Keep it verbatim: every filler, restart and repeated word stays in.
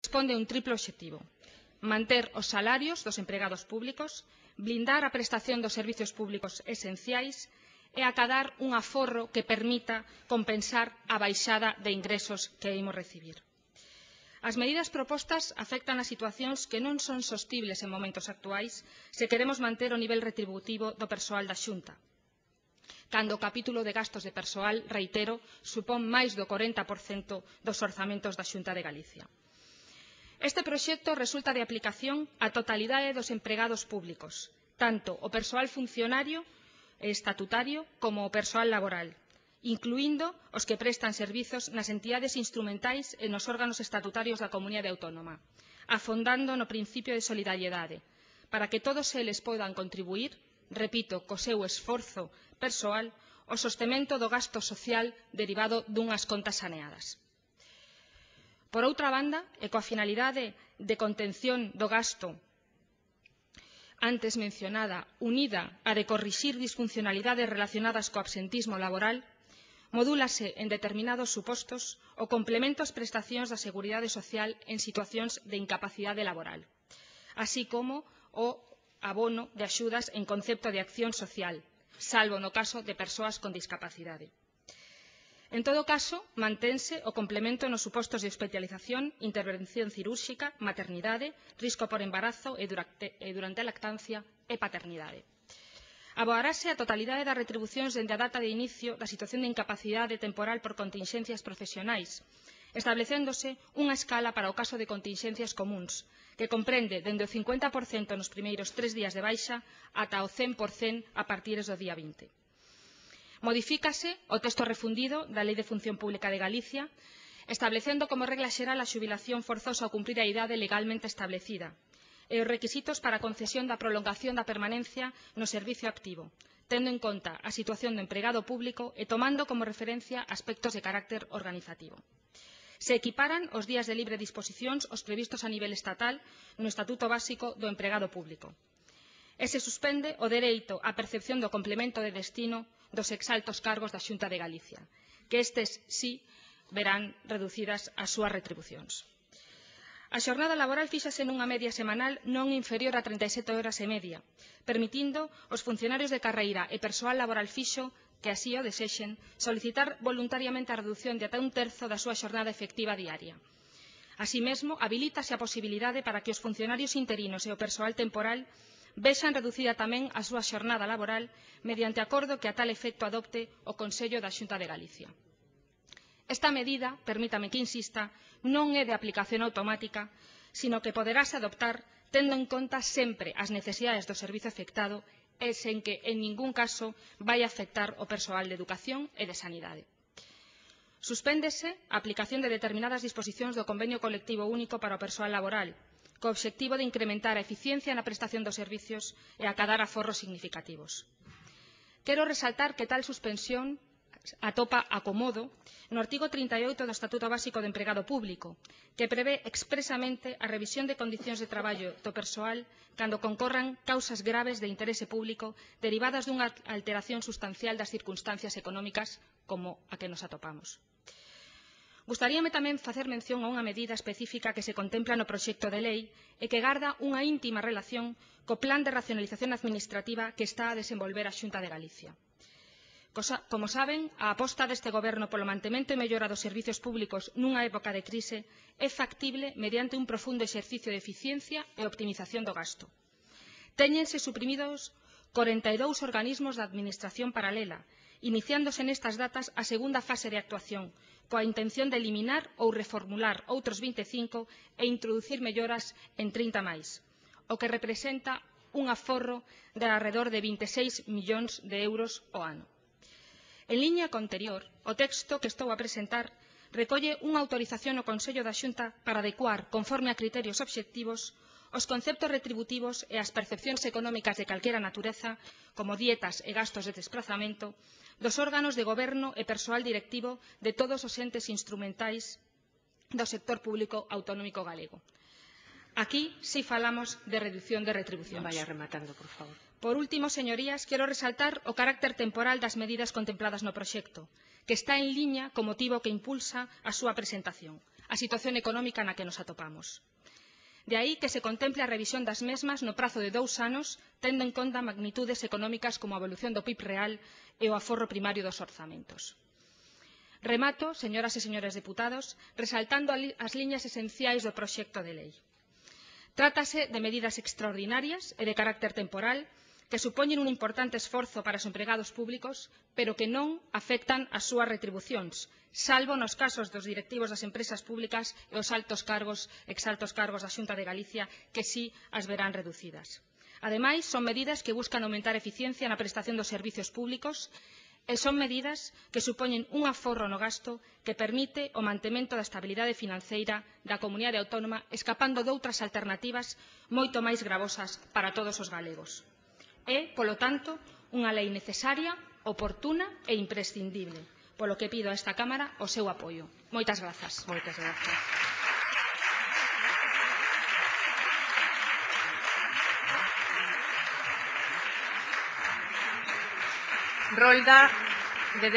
responde a un triplo obxectivo: manter os salarios dos empregados públicos, blindar a prestación dos servizos públicos esenciais e acadar un aforro que permita compensar a baixada de ingresos que imos recibir. As medidas propostas afectan a situacións que non son sostibles en momentos actuais se queremos manter o nivel retributivo do persoal da Xunta, cando o capítulo de gastos de persoal, reitero, supón máis do corenta por cento dos orzamentos da Xunta de Galicia. Este proxecto resulta de aplicación á totalidade dos empregados públicos, tanto o persoal funcionario e estatutario como o persoal laboral, incluindo os que prestan servizos nas entidades instrumentais e nos órganos estatutarios da Comunidade Autónoma, afondando no principio de solidariedade, para que todos eles poidan contribuir, repito, co seu esforzo persoal, ao sostemento do gasto social derivado dunhas contas saneadas. Por outra banda, e coa finalidade de contención do gasto antes mencionada, unida a de corrixir disfuncionalidades relacionadas co absentismo laboral, modúlase en determinados supostos o complemento ás prestacións da Seguridade Social en situacións de incapacidade laboral, así como o abono de axudas en concepto de acción social, salvo no caso de persoas con discapacidade. En todo caso, mantense o complemento nos supostos de hospitalización, intervención cirúrxica, maternidade, risco por embarazo e durante, e durante a lactancia e paternidade. Aboarase a totalidade das retribucións dende a data de inicio da situación de incapacidade temporal por continxencias profesionais, establecéndose unha escala para o caso de continxencias comúns, que comprende dende o cincuenta por cento nos primeiros tres días de baixa ata o cen por cento a partir do día vinte. Modifícase o texto refundido da Lei de Función Pública de Galicia, establecendo como regla xeral a xubilación forzosa ao cumprir a idade legalmente establecida, e os requisitos para a concesión da prolongación da permanencia no servicio activo, tendo en conta a situación do empregado público e tomando como referencia aspectos de carácter organizativo. Se equiparan os días de libre disposicións os previstos a nivel estatal no Estatuto Básico do Empregado Público. E se suspende o dereito á percepción do complemento de destino dos exaltos cargos da Xunta de Galicia, que estes sí verán reducidas as súas retribucións. A xornada laboral fíxase nunha media semanal non inferior a trinta e sete horas e media, permitindo aos funcionarios de carreira e persoal laboral fixo que así o desexen solicitar voluntariamente a reducción de ata un terzo da súa xornada efectiva diaria. Así mesmo, habilítase a posibilidade para que os funcionarios interinos e o persoal temporal vexan reducida tamén a súa xornada laboral mediante acordo que a tal efecto adopte o Consello da Xunta de Galicia. Esta medida, permítame que insista, non é de aplicación automática, sino que poderase adoptar tendo en conta sempre as necesidades do servizo afectado e sen que en ningún caso vai a afectar o persoal de educación e de sanidade. Suspéndese a aplicación de determinadas disposicións do Convenio Colectivo Único para o Persoal Laboral, co obxectivo de incrementar a eficiencia na prestación dos servizos e acadar aforros significativos. Quero resaltar que tal suspensión atopa acomodo no artigo trinta e oito do Estatuto Básico do Empregado Público, que prevé expresamente a revisión de condicións de traballo do persoal cando concorran causas graves de interese público derivadas dunha alteración sustancial das circunstancias económicas como a que nos atopamos. Gustaríame tamén facer mención a unha medida específica que se contempla no proxecto de lei e que garda unha íntima relación co plan de racionalización administrativa que está a desenvolver a Xunta de Galicia. Como saben, a aposta deste Goberno polo mantemento e mellora dos servizos públicos nunha época de crise é factible mediante un profundo exercicio de eficiencia e optimización do gasto. Téñense suprimidos corenta e dous organismos da administración paralela, iniciándose nestas datas a segunda fase de actuación, coa intención de eliminar ou reformular outros vinte e cinco e introducir melloras en trinta máis, o que representa un aforro de arredor de vinte e seis millóns de euros ao ano. En liña co anterior, o texto que estou a presentar recolle unha autorización ao Consello da Xunta para adecuar, conforme a criterios obxectivos, os conceptos retributivos e as percepcións económicas de calquera natureza, como dietas e gastos de desprazamento, dos órganos de goberno e persoal directivo de todos os entes instrumentais do sector público autonómico galego. Aquí sí falamos de reducción de retribucións. Vaya rematando, por favor. Por último, señorías, quero resaltar o carácter temporal das medidas contempladas no proxecto, que está en liña co motivo que impulsa a súa presentación, a situación económica na que nos atopamos. De aí que se contemple a revisión das mesmas no prazo de dous anos, tendo en conta magnitudes económicas como a evolución do P I B real e o aforro primario dos orzamentos. Remato, señoras e señores deputados, resaltando as liñas esenciais do proxecto de lei. Trátase de medidas extraordinarias e de carácter temporal que supoñen un importante esforzo para os empregados públicos, pero que non afectan as súas retribucións, salvo nos casos dos directivos das empresas públicas e os altos cargos, exaltos cargos da Xunta de Galicia, que sí as verán reducidas. Ademais, son medidas que buscan aumentar a eficiencia na prestación dos servizos públicos e son medidas que supoñen un aforro no gasto que permite o mantemento da estabilidade financeira da comunidade autónoma, escapando doutras alternativas moito máis gravosas para todos os galegos. É, polo tanto, unha lei necesaria, oportuna e imprescindible, polo que pido a esta Cámara o seu apoio. Moitas grazas. Moitas grazas. Rolda de